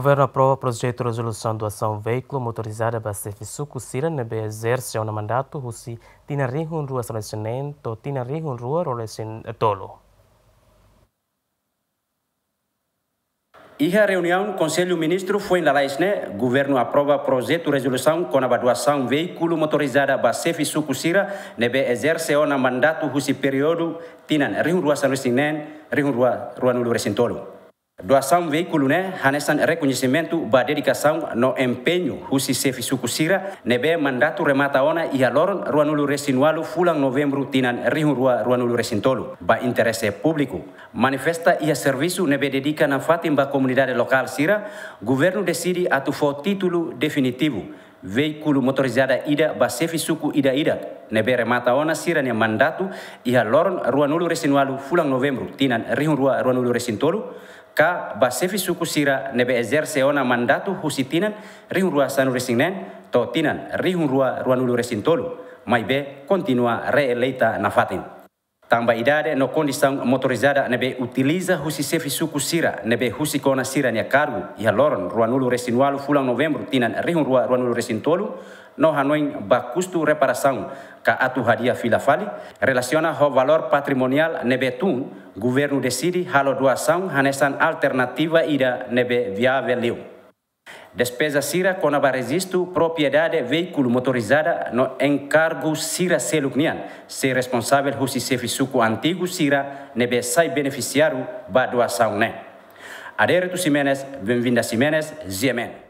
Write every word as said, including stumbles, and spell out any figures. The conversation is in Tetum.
Governu aprova projetu rezolusaun doasaun veíkulu motorizada ba xefe suku sira ne'ebé ezerse ona mandatu husi tinan rihun rua sanulu-resin-neen to'o tinan rihun rua ruanulu-resin-tolu. Iha reuniaun Konsellu Ministru foin lalais ne'e, governu aprova projetu rezolusaun kona-ba doasaun veíkulu motorizada ba xefe suku sira ne'ebé ezerse ona mandatu husi períodu tinan rihun rua sanulu-resin-neen, rihun rua ruanulu-resin-tolu. Doasaun veíkulu ne'e hanesan rekoñesimentu ba dedikasaun no empeñu husi xefe suku sira ne'ebé mandatu remata ona iha loron ruanulu-resin-ualu fulan Novembru tinan rihun rua ruanulu-resin-tolu ba interese públiku. Manifesta iha servisu ne'ebé dedika nafatin ba komunidade lokál sira, governu deside atu fó títulu definitivu veíkulu motorizada ida ba xefe suku ida-idak ne'ebé remata ona sira-nia mandatu iha loron ruanulu-resin-ualu fulan Novembru tinan rihun rua ruanulu-resin-tolu, ka ba xefe suku sira ne'ebé ezerse ona mandatu husi tinan rihun rua sanulu-resin-neen to'o tinan rihun rua ruanulu-resin-tolu, maibé kontinua reeleita nafatin. Tanba idade no kondisaun, motorizada ne'ebé utiliza husi xefe suku sira ne'ebé husik ona sira-nia kargu iha loron ruanulu-resin-ualu fulan Novembru tinan rihun rua ruanulu-resin-tolu no hanoin ba kustu reparasaun ka atu hadi'a fila fali, relasiona ho valór patrimoniál ne'ebé tun, governu deside halo doasaun hanesan alternativa ida ne'ebé viavel liu. Despeza sira kona-ba rejistu propriedade veíkulu motorizada no enkargu sira seluk nian sei responsavel husi xefe suku antigu sira ne'ebé sai benefisiáriu ba doasaun ne'e. Adérito Ximenes, Benvinda Ximenes, G M N.